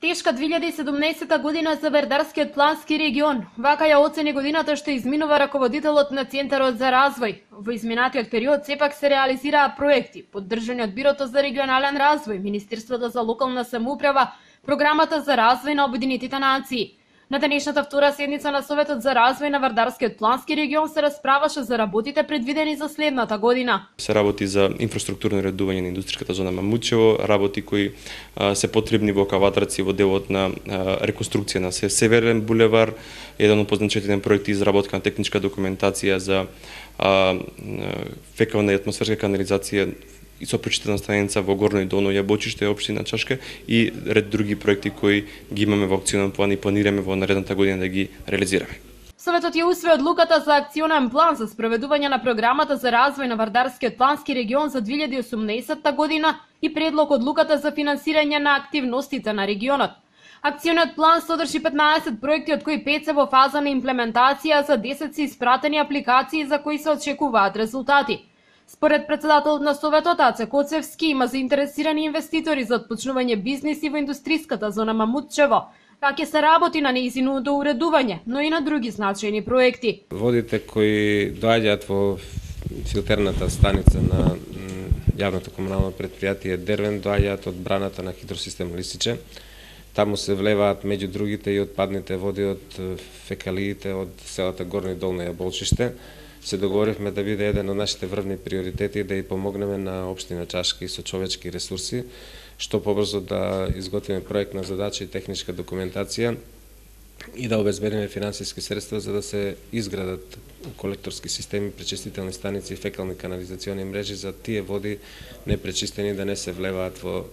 Тешка 2017 година за Вардарскиот плански регион. Вака ја оцени годината што изминува раководителот на Центарот за развој. Во изминатиот период сепак се реализираа проекти, поддржани од Бирото за регионален развој, Министерството за локална самоуправа, Програмата за развој на Обединетите нации. На денешната втора седница на Советот за развој на Вардарскиот плански регион се расправаше за работите предвидени за следната година. Се работи за инфраструктурно редување на индустриската зона Мамучево, работи кои се потребни во Каватраци во делот на реконструкција на Северен булевар, еден од позначителен проекти изработка на техничка документација за фекална и атмосферска канализација и сопречистена станица во Горно и Долно Јабочиште, општина Чашка и ред други проекти кои ги имаме во акционен план и планираме во наредната година да ги реализираме. Советот ја усвои одлуката за акционен план за спроведување на програмата за развој на Вардарскиот плански регион за 2018 година и предлог одлуката за финансирање на активностите на регионот. Акциониот план содржи 15 проекти, од кои 5 се во фаза на имплементација, за 10 се испратени апликации за кои се очекуваат резултати. Според председателот на Советот Аце Коцевски, има заинтересирани инвеститори за отпочнување бизниси во индустриската зона Мамутчево, како се работи на нејзиното уредување, но и на други значајни проекти. Водите кои доаѓаат во филтерната станица на јавното комунално предпријатие Дервен доаѓаат од браната на хидросистем Лисиче. Таму се влеваат меѓу другите и отпадните води од фекалиите од селата Горно и Долно Јаболчиште. Се договоривме да биде еден од нашите врвни приоритети да и помогнеме на општина Чашка и со човечки ресурси, што побрзо да изготвиме проектна задача и техничка документација и да обезбедиме финансиски средства за да се изградат колекторски системи, пречистителни станици и фекални канализациони мрежи за тие води непречистени да не се влеваат во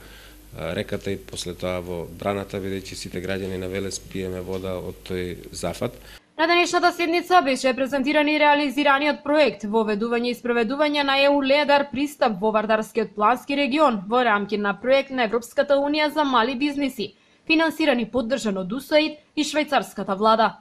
реката и после тоа во браната, бидејќи сите граѓани на Велес пиеме вода од тој зафат. На денешната седница беше презентиран и реализираниот проект воведување и спроведување на ЕУ Ледар пристап во Вардарскиот плански регион во рамки на проект на Европската унија за мали бизниси, финансиран и поддржан од УСАИД и швајцарската влада.